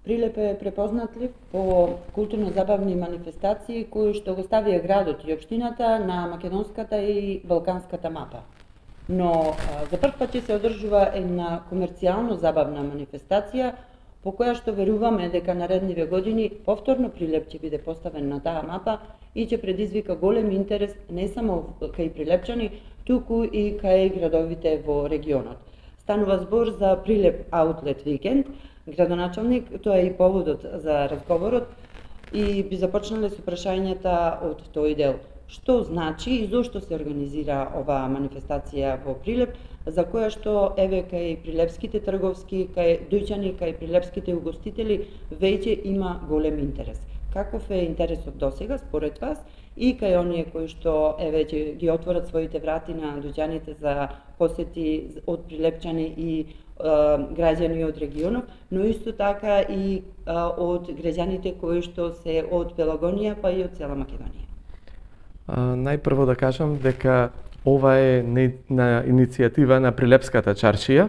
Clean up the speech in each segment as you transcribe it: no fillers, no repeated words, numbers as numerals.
Прилеп е препознатлив по културно-забавни манифестации кои што го ставија градот и општината на македонската и балканската мапа. Но за прв пат ќе се одржува една комерцијално забавна манифестација по која што веруваме дека наредниве години повторно Прилеп ќе биде поставен на таа мапа и ќе предизвика голем интерес не само кај прилепчани, туку и кај градовите во регионот. Станува збор за Прилеп Аутлет викенд. Градоначалник, тоа е и поводот за разговорот, и би започнале со прашањата од тој дел. Што значи и зошто се организира оваа манифестација во Прилеп, за која што еве кај прилепските трговски, кај дојчани, кај прилепските угостители веќе има голем интерес. Каков е интересот досега според вас и кај оние кои што еве ќе ги отворат своите врати на дојчаните за посети од прилепчани и граѓани од регионот, но исто така и од граѓаните кои што се од Пелагонија па и од цела Македонија? Најпрво да кажам дека ова е на иницијатива на Прилепската чаршија.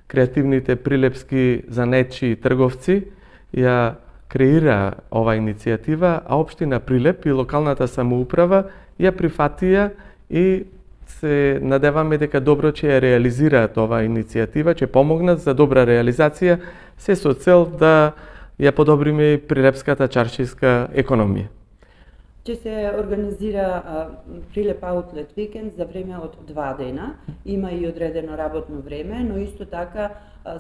Креативните прилепски занетчи трговци ја креира ова иницијатива, а општина Прилеп и локалната самоуправа ја прифатија и се надеваме дека добро ќе ја реализираат оваа иницијатива, ќе помогнат за добра реализација, се со цел да ја подобриме прилепската чаршиска економија. Ќе се организира Прилеп Аутлет викенд за време од 2 дена. Има и одредено работно време, но исто така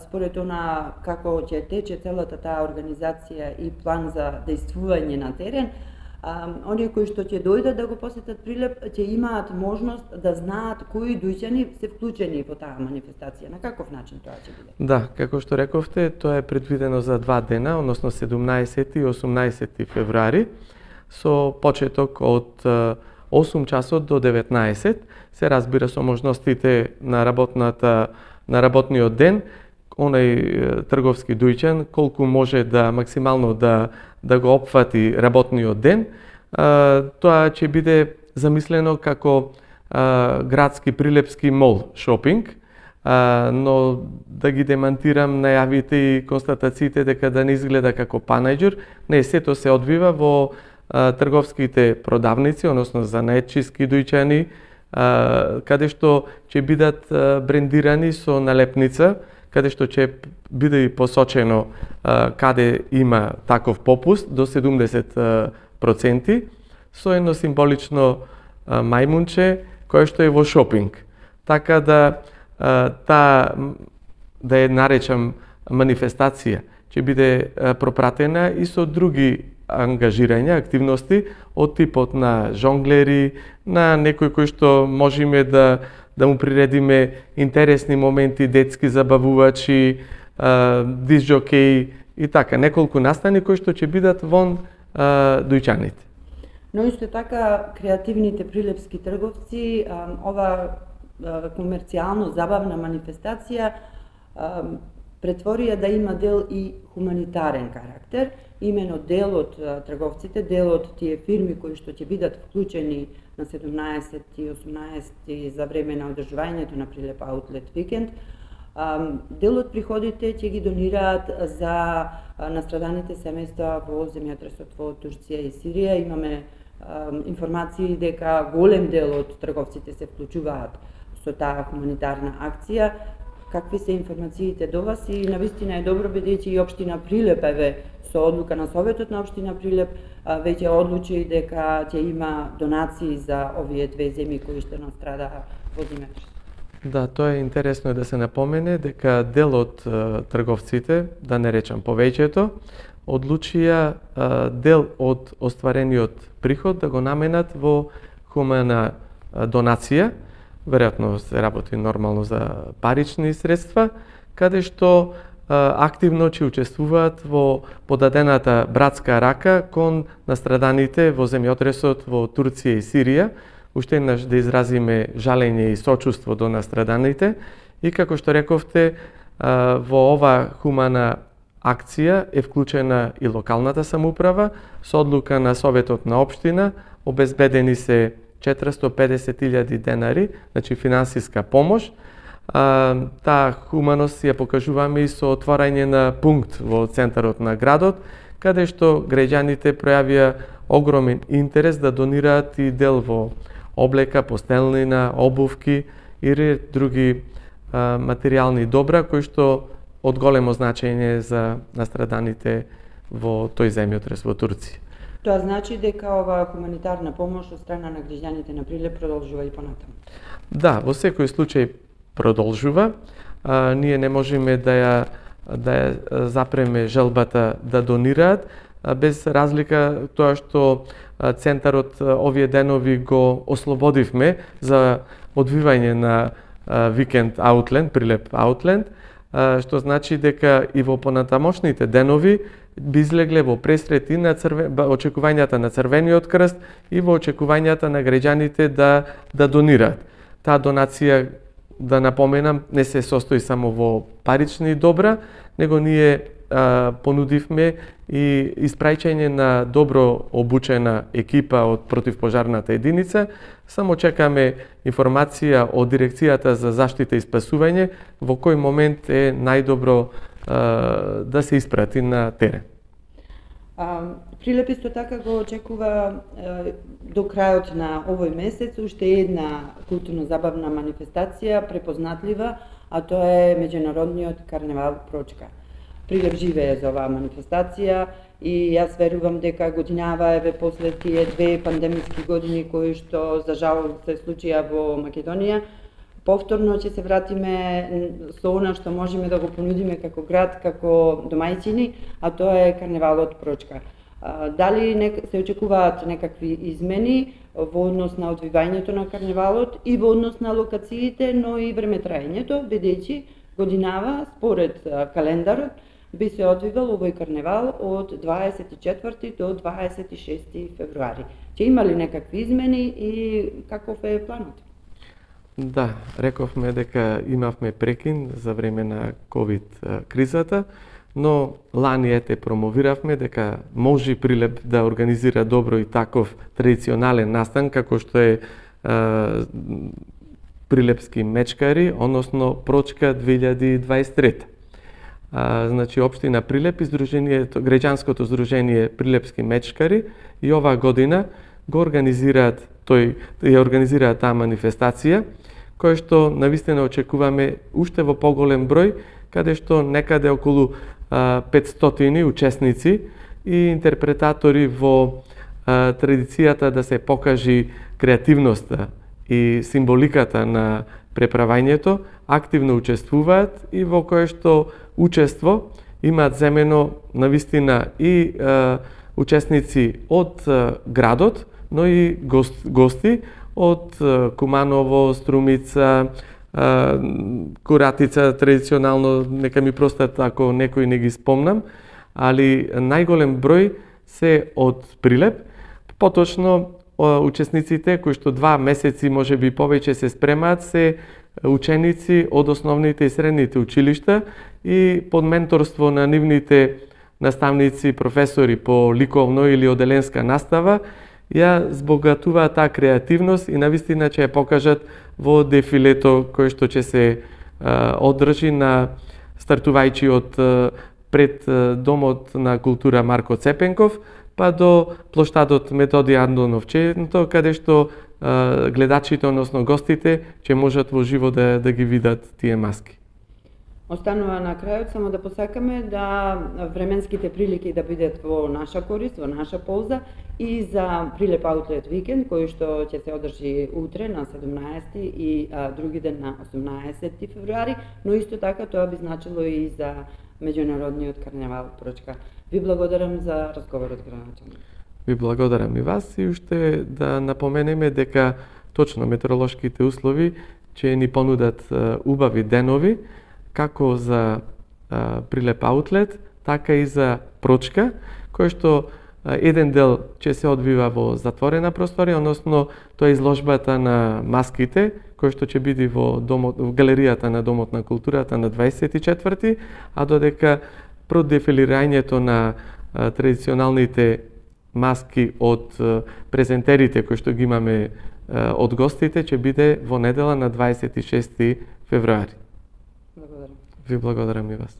според она како ќе тече целата таа организација и план за дејствување на терен, оние кои што ќе дојдат да го посетат Прилеп ќе имаат можност да знаат кои дојчани се вклучени во таа манифестација. На каков начин тоа ќе биде? Да, како што рековте, тоа е предвидено за 2 дена, односно 17 и 18 февруари, со почеток од 8 часот до 19, се разбира со можностите на работниот ден, онај трговски дојчан колку може да максимално да го опфати работниот ден. Тоа ќе биде замислено како градски прилепски мол шопинг, но да ги демантирам најавите и констатациите дека да не изгледа како панаџир, не, сето се одвива во трговските продавници, односно занаетчиски дојчани, каде што ќе бидат брендирани со налепница, каде што ќе биде и посочено каде има таков попуст до 70%, со едно символично мајмунче кое што е во шопинг. Така да ја наречам манифестација, ќе биде пропратена и со други ангажирања, активности од типот на жонглери, на некој кој што можеме да му приредиме интересни моменти, детски забавувачи, дисџокеи и така, неколку настани кои што ќе бидат вон дојчаните. Но исто така креативните прилепски трговци, ова комерцијално забавна манифестација претворија да има дел и хуманитарен карактер. Имено дел од трговците, дел од тие фирми кои што ќе бидат вклучени на 17 и 18 за време на одржувањето на Прилеп Аутлет викенд, дел од приходите ќе ги донираат за настраданите семејства во земјотресот во Турција и Сирија. Имаме информации дека голем дел од трговците се вклучуваат со таа хуманитарна акција. Какви се информациите до вас и навистина е добро бидејќи и општина Прилеп со одлука на Советот на општина Прилеп веќе одлучи дека ќе има донации за овие две земји кои што настрадаа во земјотресот. Да, тоа е интересно да се напомене дека дел од трговците, да не речам повеќето, одлучија дел од остварениот приход да го наменат во хумана донација. Веројатно се работи нормално за парични средства, каде што активно ќе учествуваат во подадената братска рака кон настраданите во земјотресот во Турција и Сирија. Уште еднаш да изразиме жалење и сочувство до настраданите и како што рековте, во ова хумана акција е вклучена и локалната самоуправа со одлука на Советот на општина, обезбедени се 450.000 денари, значи финансиска помош, Таа хуманост ја покажуваме и со отворање на пункт во центарот на градот, каде што граѓаните пројавија огромен интерес да донираат и дел во облека, постелнина, обувки и ред други материјални добра кои што од големо значење за настраданите во тој земјотрес во Турција. Тоа значи дека оваа хуманитарна помош од страна на граѓаните на Прилеп продолжува и понатаму? Да, во секој случај продолжува. Ние не можеме да ја запреме желбата да донираат, без разлика тоа што центарот овие денови го ослободивме за одвивање на викенд Outland, Прилеп Outland, што значи дека и во понатамошните денови би излегле во пресрет и на очекувањата на Црвениот крст и во очекувањата на граѓаните да донираат. Таа донација, да напоменам, не се состои само во парични добра, него ние понудивме и испраќање на добро обучена екипа од противпожарната единица. Само чекаме информација од Дирекцијата за заштита и спасување во кој момент е најдобро да се испрати на терен. Прилеп исто така го очекува до крајот на овој месец уште една културно-забавна манифестација препознатлива, а тоа е меѓународниот карневал Прочка. Прилеп живее за оваа манифестација и јас верувам дека годинава еве после тие две пандемиски години кои што за жал се случија во Македонија, повторно ќе се вратиме со она што можеме да го понудиме како град, како домајчини, а тоа е карневалот Прочка. Дали се очекуваат некакви измени во однос на одвивањето на карневалот и во однос на локациите, но и времетраењето, бидејќи годинава според календарот би се одвивал овој карневал од 24 до 26 февруари. Ќе има ли некакви измени и каков е планот? Да, рековме дека имавме прекин за време на COVID кризата, но лани ете промовиравме дека може Прилеп да организира добро и таков традиционален настан како што е Прилепски мечкари, односно Прочка 2023. Значи општина Прилеп и граѓанското здружение Прилепски мечкари и оваа година го организираат таа манифестација, која што навистина очекуваме уште во поголем број, каде што некаде околу 500 учесници и интерпретатори во традицијата да се покажи креативноста и символиката на преправањето, активно учествуваат и во кое што учество имаат земено навистина и учесници од градот, но и гости од Куманово, Струмица, Куратица, традиционално, нека ми простат ако некој не ги спомнам, али најголем број се од Прилеп, поточно учесниците кои што 2 месеци, може би повеќе се спремаат, се ученици од основните и средните училишта и под менторство на нивните наставници, професори по ликовно или оделенска настава, ја збогатуваат таа креативност и навистина ќе ја покажат во дефилето кој што ќе се одржи стартувајќи од пред Домот на култура Марко Цепенков, па до плоштадот Методија Андонов Ченто, каде што гледачите, односно гостите, ќе можат во живо да ги видат тие маски. Останува на крајот само да посакаме да временските прилики да бидат во наша корист, во наша полза и за Прилеп Outlet викенд, кој што ќе се одржи утре на 17 и други ден на 18 февруари, но исто така тоа би значило и за меѓународниот карневал Прочка. Ви благодарам за разговорот, граначани. Ви благодарам и вас и уште да напоменеме дека точно метеоролошките услови ќе ни понудат убави денови, како за Прилеп Outlet, така и за Прочка, кој што еден дел ќе се одвива во затворена просторија, односно тоа е изложбата на маските, кој што ќе биде во галеријата на Домот на културата на 24-ти, а додека продефилирањето на традиционалните маски од презентерите кои што ги имаме од гостите ќе биде во недела на 26 февруари. Ви благодарам и вас.